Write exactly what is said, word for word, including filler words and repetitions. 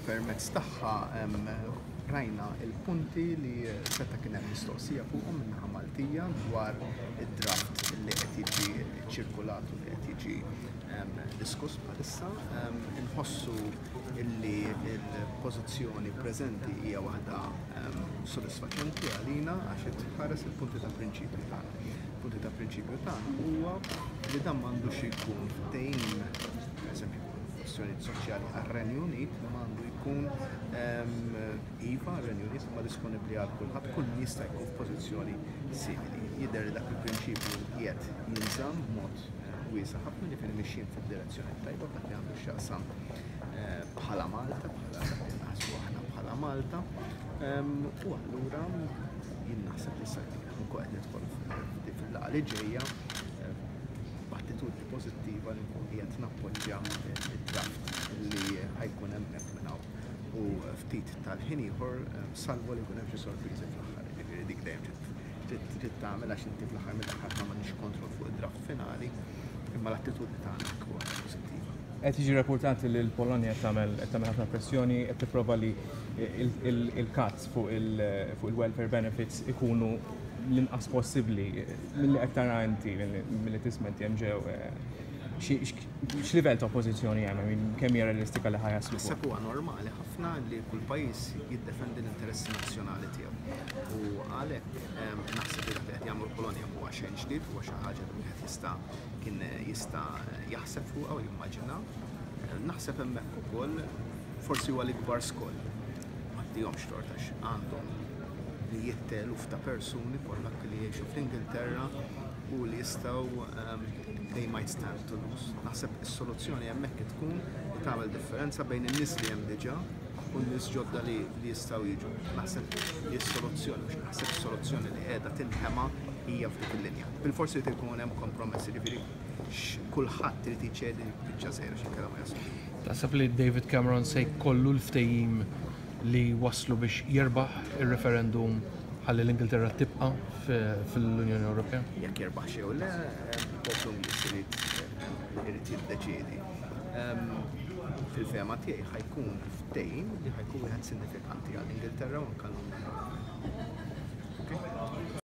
Permezz tagħha rajna il-punti li seta' kien hemm mistoqsija fuqhom min-naħa Maltija dwar id-draft li qed jiġi ċirkulat u li qed jiġi diskuss bħalissa. Inħossu illi il-pożizzjoni preżenti hija waħda sodisfaċenti għalina għax tħares il-punti ta' prinċipju tagħna. Punti ta' prinċipju tagħna huwa li dan m'għandux jkun ftehim, pereżempju, kwestjonijiet soċjali għar-Renju Unit, li m'għandu jkun iva għar-Renju Unit ma disponibbli għal kulħadd, kull min jista' jkun f'pożizzjoni simili. Jidher li dak il-prinċipju qiegħed jinżamm b'mod wiesa' ħafna, ġifieri mixjin fid-direzzjoni tajba dak li għandu x'jaqsam bħala Malta, bħala dak li naħsbu aħna bħala Malta. U allura jien naħseb li sa nkun qed nidħol fil-laqgħa li ġejja b'attitudni pożittiva li nkun qiegħed nappoġġja id-draft li ħa jkun hemmhekk minn hawn u ftit tal-ħin ieħor, salvo li jkun hemm xi sorpriżi fl-aħħar. Ġifieri dik dejjem trid tagħmel għax inti fl-aħħar mill-aħħar ma m'għandniex kontroll fuq id-draft finali, imma l-attitudni tagħna tkun pożittiva. Qed jiġi rapportat li l-Polonja tagħmel qed tagħmel ħafna pressjoni, qed tipprova li il-cuts fuq il-welfare benefits ikunu l-inqas possibbli. Milli qed tara inti, milli tisma' inti hemm ġew, x'livell ta' oppożizzjoni hemm, kemm hija realistika li ħa jaslu? Naħseb huwa normali ħafna li kull pajjiż jiddefendi l-interessi nazzjonali tiegħu. U għalhekk naħseb li dak li qed jagħmlu l-Polonja huwa xejn ġdid, huwa xi ħaġa li wieħed jista' kien jista' jaħseb fuqha u jimmaġina. Naħseb hemmhekk ukoll forsi huwa l-ikbar skoll. Ma ttihomx tort għax għandhom mijiet ta' eluf ta' persuni Pollakki li jgħixu fl-Ingilterra u li jistgħu, they might stand to lose. Naħseb is-soluzzjoni hemmhekk tkun li tagħmel differenza bejn in-nies li hemm diġà u n-nies ġodda li jistgħu jiġu. Naħseb li s-soluzzjoni, mhux naħseb, is-soluzzjoni li qiegħda tinħema hija f'dik il-linja. Bil-forsi li jkun hemm kompromessi, ġifieri kulħadd irid jiċedi biċċa żgħira xi ma jaslu. Taħseb li David Cameron se jkollu l-ftehim li waslu biex jirbaħ il-referendum ħalli l-Ingilterra tibqa' fil-Unjoni Ewropea? Jekk jirbaħ xi le, il-poplu Ingliż irid irid jiddeċiedi. Fil-fehma tiegħi ħa jkun ftehim li ħa jkun wieħed sinifikanti għall-Ingilterra u anke l-Unjoni Ewropea.